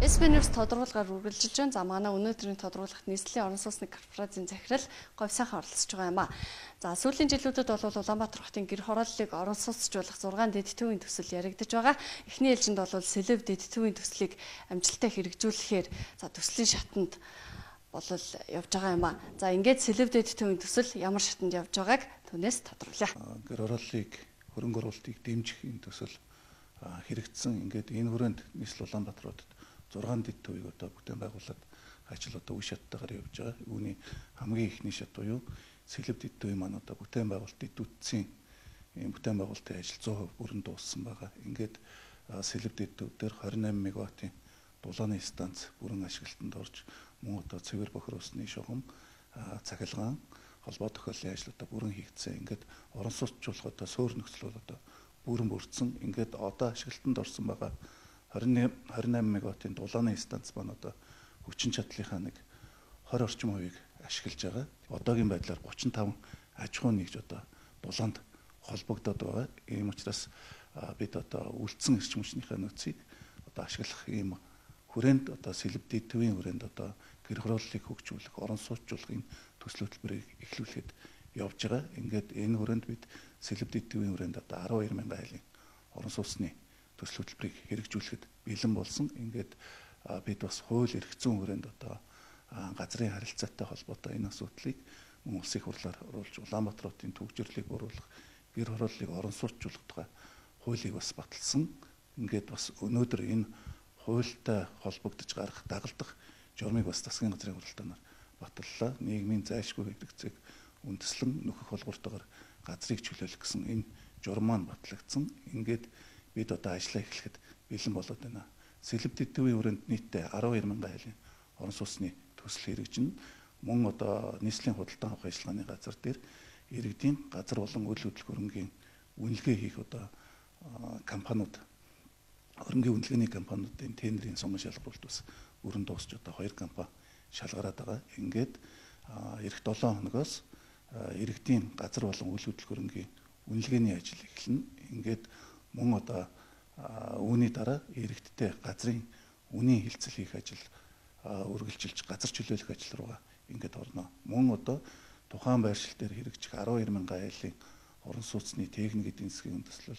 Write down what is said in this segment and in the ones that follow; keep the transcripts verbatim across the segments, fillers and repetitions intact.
эс би News тодорхойлгоор үргэлжилж байна. За манай өнөөдрийн тодорхойлолт нийслэлийн орон сууцны корпорацийн захирал говь сайхан оролцож байгаа юм а. За сүүлийн жилүүдэд бол Улаанбаатар хотын гэр хорооллыг орон сууцчлуулах зургаан дэд төвийн төсөл яригдж байгаа. Эхний ээлжинд бол Сэлэв дэд төвийн төслийг амжилттай хэрэгжүүлэхээр за төслийн шатанд болол явж байгаа юм а. За ингээд Сэлэв дэд төвийн төсөл ямар шатанд явж байгааг түүнээс тодорхойлъё. Гэр хорооллыг хөрөнгө оруулалтыг дэмжихийн төсөл хэрэгжсэн. Ингээд энэ хүрээнд нийслэл Улаанбаатар хотод зургаан дэд төвийг одоо бүтээн байгуулалт ажил одоо үе шаттайгаар явж байгаа. Үүний хамгийн ихний шат буюу Сэлэв дэд төвийн маань одоо бүтээн байгуулалт дэдүтсийн ийм бүтээн байгуулалтын ажил цоо хувь бүрэн дууссан байгаа. Ингээд Сэлэв дэд төв дээр двадцать восемь мегаваттын дулааны станц бүрэн ашиглалтанд орж мөн одоо цэвэр бохир усны шугам цахилгаан холбоо тохиоллын ажил одоо бүрэн хийгдсэн. Ингээд орон сууцчлуулах одоо суур нөхцөл бол одоо бүрэн бүрдсэн. Ингээд одоо ашиглалтанд орсон байгаа двадцать восемь мегаваттын дулааны станц маань одоо хүчин чадлынхаа нэг двадцать орчим хувийг ашиглаж байгаа. Одоогийн байдлаар тридцать и пять аж ахуй нэгж одоо дулаанд холбогдоод байгаа. Ийм учраас бид одоо үлдсэн эрчим хүчнийхээ нөөцийг одоо ашиглах ийм хүрээнд одоо Сэлэв дэд төвийн хүрээнд одоо гэр хорооллыг хөгжүүлэх, орон сууцчлуулахын төсөл хөтөлбөрийг эхлүүлэхэд явж байгаа. Ингээд энэ хүрээнд бид Сэлэв дэд төвийн хүрээнд одоо twelve thousand айлын орон сууцны төсөл хөтөлбөрийг хэрэгжүүлэхэд бэлэн болсон. Ингээд бид бас хууль эрх зүйн хүрээнд одоо газрын харилцаатай холбоотой энэ асуудлыг мөн улсын их хурлаар оруулж Улаанбаатар хотын төвчрлийг бууруулах, гэр хорооллыг орон сууцчлуулах тухай хуулийг бас баталсан. Ингээд бас өнөөдөр энэ хуультай холбогдож гарах дагалдах журмыг бас засгийн газрын хуралдаанаар баталлаа. Нийгмийн зайлшгүй хэрэгцээг үндэслэн нөхөх холбоортойгоор газрыг чөлөөлөх гэсэн энэ журам маань батлагдсан. Ингээд бид одоо ажиллаа эхлэхэд бэлэн болоод байна. Сэлэв дэд төвийн хүрээнд нийтдээ twelve thousand айлын орон сууцны төсөл хэрэгжинэ. Мөн одоо нийслэлийн худалдан авах ажиллагааны газар дээр иргэдийн газар болон үйл хөдлөх хөрөнгийн үнэлгээ хийх одоо компаниуд хөрөнгийн үнэлгээний компаниудын тендерийн сонгон шалгаруулалт бас өрн дуусч одоо хоёр компани шалгараад байгаа. Ингээд эх seven хоногоос иргэдийн газар болон үйл хөдлөх хөрөнгийн үнэлгээний ажил эхэлнэ. Ингээд мөн одоо үүний дараа иргэдтэй газрын үнийн хилцэл хийх ажил үргэлжилж газар чөлөөлөх ажил руугаа ингээд орно. Мөн одоо тухайн байршил дээр хэрэгжих twelve thousand айлын орон сууцны техник эдийн засгийн үндэслэл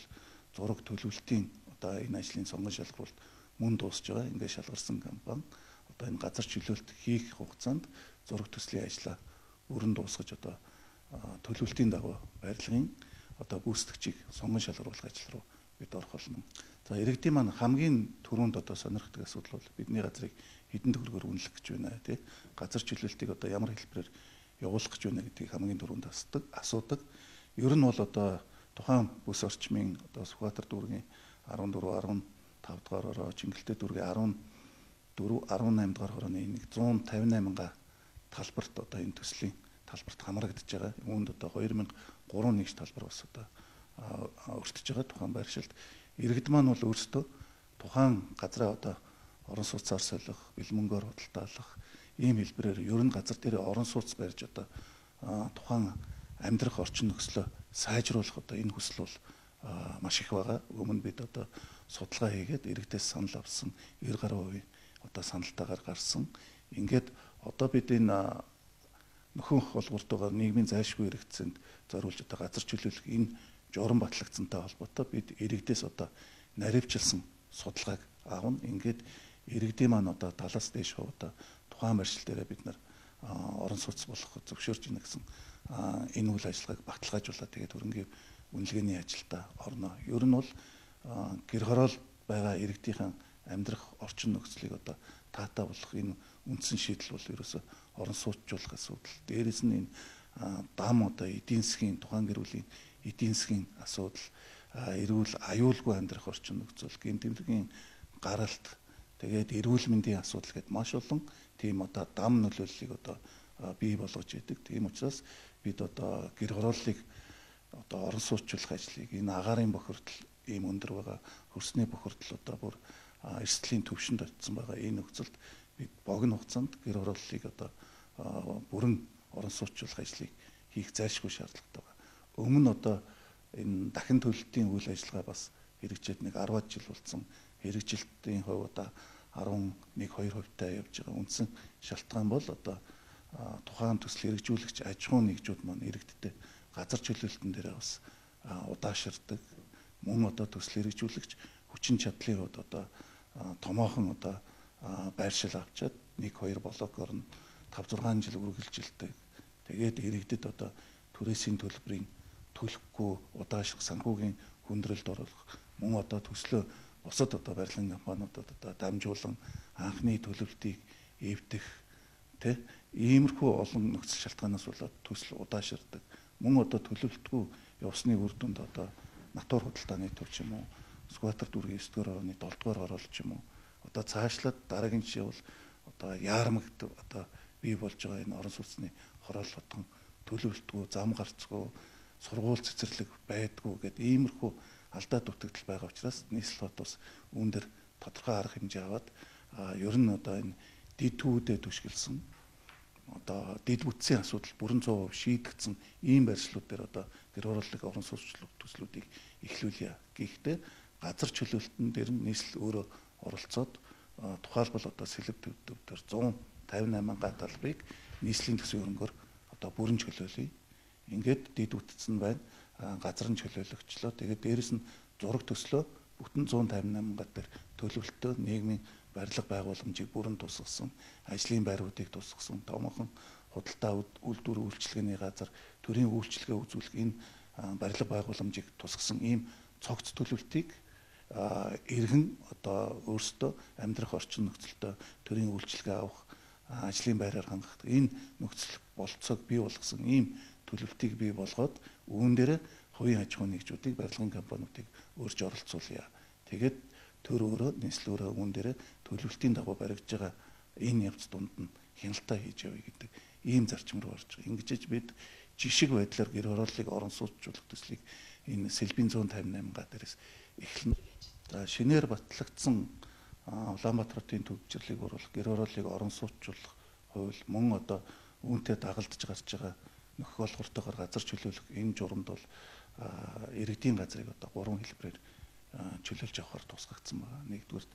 зураг төлөвлөлтийн одоо энэ ажлын сонгон шалгаруулалт мөн дуусж байгаа. Ингээд шалгарсан компани одоо энэ газар чөлөөлт хийх хугацаанд зураг төслийн ажлаа өрн дуусгаж одоо төлөвлөлтийн дагуу барилгын одоо гүйцэтгэгчийг сонгон шалгаруулах ажил руу бид орох болно. За иргэдийн маань хамгийн түрүүнд одоо сонирхдаг асуудал бол бидний газрыг хэдэн төгрөгөөр үнэлэх гэж байна тий. Газар чөлөөлтийг одоо ямар хэлбэрээр явуулах гэж байна гэдгийг хамгийн түрүүнд асуудаг, асуудаг. Ер нь бол одоо тухайн бүс орчмын одоо Сүхбаатар дүүргийн fourteen, fifteen дугаар хороо, Чингэлтэй дүүргийн fourteen, eighteen дугаар хорооны нэг one fifty-eight талбарт одоо энэ төслийн талбарт хамрагдж байгаа. Үүнд одоо two thousand three нэгж талбар бас одоо өртөж байгаа тухайн байршилд. Иргэд маань бол өөрсдөө тухайн газраа одоо орон сууцаар солих, бэлмөнгөөр худалдаалах ийм хэлбэрээр ер нь газар дээр орон сууц барьж одоо тухайн амьдрах орчин нөхцөлөө сайжруулах одоо энэ хүсэл бол маш их байгаа. Өмнө бид одоо судалгаа хийгээд иргэдээс санал авсан ninety гаруй хувийн одоо саналтайгаар гарсан. Ингээд одоо бид энэ нөхөн холбоортойгоор нийгмийн зайлшгүй хэрэгцээнд зориулж одоо газар чөлөөлөх энэ журам батлагдсантай холбоотой бид иргэдээс одоо наривчилсан судалгааг аавна. Ингээд иргэдийн маань одоо талаас дээш одоо тухайн байршил дээр бид нар орон сууц болох зөвшөөрж ийнэ гэсэн энэ үйл ажиллагааг баталгаажуулаад тэгээд хөрөнгийн үнэлгээний ажилдаа орно. Ер нь бол гэр хороол байгаа иргэдийнхэн амьдрах орчин нөхцөлийг одоо таатай болох энэ үндсэн шийдэл бол ерөөсө орон сууцчлуулах асуудал. Дээрээс нь энэ дам одоо эдийн засгийн тухайн гэр бүлийн эдийн засгийн асуудал, эрүүл аюулгүй амьдрах орчин нөхцөл, гэмтэмлэгийн гаралт, тэгээд эрүүл мэндийн асуудал гэдээ маш олон тийм одоо дам нөлөөллийг одоо бий болгож идэг. Тийм учраас бид одоо гэр хорооллыг одоо орон сууцчлах ажлыг энэ агаарын бохирдол ийм өндөр байгаа, хөрсний бохирдол одоо бүр эрсдлийн төвшөнд очсон байгаа энэ нөхцөлд бид богино хугацаанд гэр хорооллыг одоо бүрэн орон сууцчлах ажлыг хийх зайлшгүй шаардлагатай байна. Өмнө одоо энэ дахин төлөлтийн үйл ажиллагаа бас хэрэгжээд нэг ten жил болсон. Хэрэгжилтийн хувь одоо арван нэг хоёр хувьтай явж байгаа үндсэн шалтгаан бол одоо тухайн төсөл хэрэгжүүлэгч аж ахуйн нэгжүүд маань иргэдтэй газар чөлөөлтөн дээр бас удаашрдаг. Мөн одоо төсөл хэрэгжүүлэгч хүчин чадлын хувьд одоо томоохон одоо байршил авчаад нэг хоёр блокоор нь тав зургаан жил үргэлжилдэг. Тэгээд иргэдэд одоо түрээсийн төлбөрийн төлөхгүй удаашрах санхүүгийн хүндрэлд оруулах мөн одоо төслөө бусад одоо барилгын компаниудад одоо дамжуулан анхны төлөвлөлтийг эвдэх тэ иймэрхүү олон нөхцөл шалтгаанаас болоод төсөл удаашрдаг. Мөн одоо төлөвлөлтгүй явсны үр дүнд одоо натур худалдааны төв ч юм уу Сүхбаатар дүүргийн девять дугаар орны долоо дугаар орол ч юм уу одоо цаашлаад дараагийн жишээ бол одоо яармагт одоо бий болж байгаа энэ орон сууцны хороол хотгон төлөвлөлтгүй зам гарцгүй сургууль цэцэрлэг байдгүй гэдэг иймэрхүү алдаа дутагдал байгаа учраас нийслэл хот бас үүн дээр тодорхой арга хэмжээ аваад ер нь одоо энэ дид түүдэд түшгэлсэн одоо дид бүтцийн асуудал бүрэн цоо шийдэгдсэн ийм барьцлууд дээр одоо гэр хорооллын орон сууцчлал төслүүдийг эхлүүлье. Гэхдээ газар чөлөөлтөн дээр нийслэл өөрөө оролцоод тухайлбал одоо сэлб төв дээр зуун тавин восемь га талбарыг нийслэлийн төсвийн хөрөнгөөр одоо бүрэн чөлөөлье. Ингээд дид бүтцэн байна. Газар нь чөлөөлөгчлөө. Тэгээд дээрэс нь зураг төслөө бүтэн one fifty-eight га дээр төлөвлөлтөө нийгмийн барилга байгууламжийг бүрэн тусгасан, ажлын байруудыг тусгасан, томоохон худалдаа үйлдвэр үйлчилгээний газар, төрийн үйлчилгээ үзүүлэх энэ барилга байгууламжийг тусгасан ийм цогц төлөвлөлтийг иргэн одоо өөрсдөө амьдрах орчин нөхцөлтөө төрийн үйлчилгээ авах, ажлын байраар хангах энэ нөхцөл болцоог бий болгосон ийм төлөвлөлтийг бий болгоод үүн дээр хувийн аж ахуйн нэгжүүдийг барилгын компаниудыг өөрж оролцуулъя. Тэгээд төр өөрөө нийслэл өөрөө үүн дээр төлөвлөлтийн дагуу баригдж байгаа энэ явц дунд нь хяналтаа хийж явъя гэдэг ийм зарчим руу орж байгаа. Ингэж бид жишг байдлаар гэр хорооллыг орон сууцчлах төслийг энэ сэлбийн one fifty-eight га дээрээс эхлэнэ. За шинээр батлагдсан Улаанбаатарын төвчрлийг оруулах гэр хорооллыг орон сууцчлах хууль мөн одоо үүнтэй дагалдж гарч байгаа нөхөх олгортойгоор газар чөлөөлөх энэ журамд бол иргэдийн газрыг одоо гурван хэлбэрээр чөлөөлж авахар тусгагдсан байна. Нэгдүгээр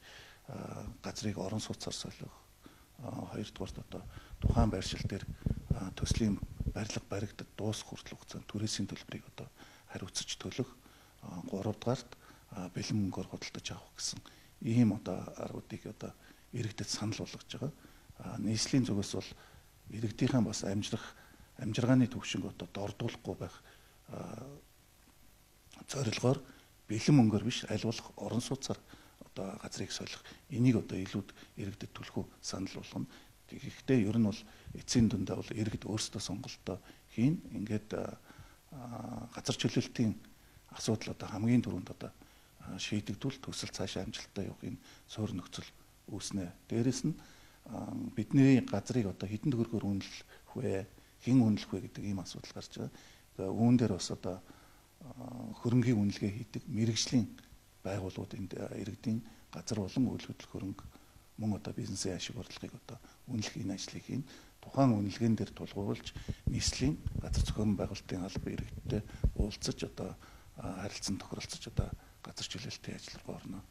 газрыг орон сууцаар солих, хоёрдугаар одоо тухайн байршил дээр төслийн барилга баригдад дуусах хүртэл хугацаанд түрээсийн төлбөрийг одоо хариуцаж төлөх, гуравдугаарт бэлэн мөнгөөр худалдаж авах гэсэн ийм одоо аргуудыг одоо иргэдэд санал болгож байгаа. Нийслэлийн зүгээс бол иргэдийнхэн бас амжирах амжиргааны төвшинг одоо дордуулахгүй байх зорилгоор бэлэн мөнгөөр биш аль болох орон сууцаар одоо газрыг солих энийг одоо илүүд иргэдэд түлхүү санал болгоно. Тэгэхдээ ер нь бол эцсийн дүндээ бол иргэд өөрсдөө сонголтоо хийн. Ингээд газар чөлөөлтийн асуудал одоо хамгийн түрүүнд одоо шийдэгдвэл төсөл цаашаа амжилттай явахын суурь нөхцөл үүснэ. Дээрэс нь бидний газрыг одоо хэдэн төгрөгөөр үнэлэх вэ? Хэн үнэлэх вэ гэдэг ийм асуудал гарч байгаа. Тэгээ үүн дээр бас одоо хөрөнгийн үнэлгээ хийдэг мэрэгжлийн байгууллагууд энд иргэдийн газар болон үйл хөдлөх хөрөнгө мөн одоо бизнесийн ашиг орлогыг одоо үнэлэх энэ ажлыг хийн. Тухайн үнэлгээн дээр тулгуурлаж нийслэлийн газар зохион байгуулалтын албан иргэдтэй уулзаж одоо харилцан тохиролцож одоо газар чөлөөлтийн ажил руу орно.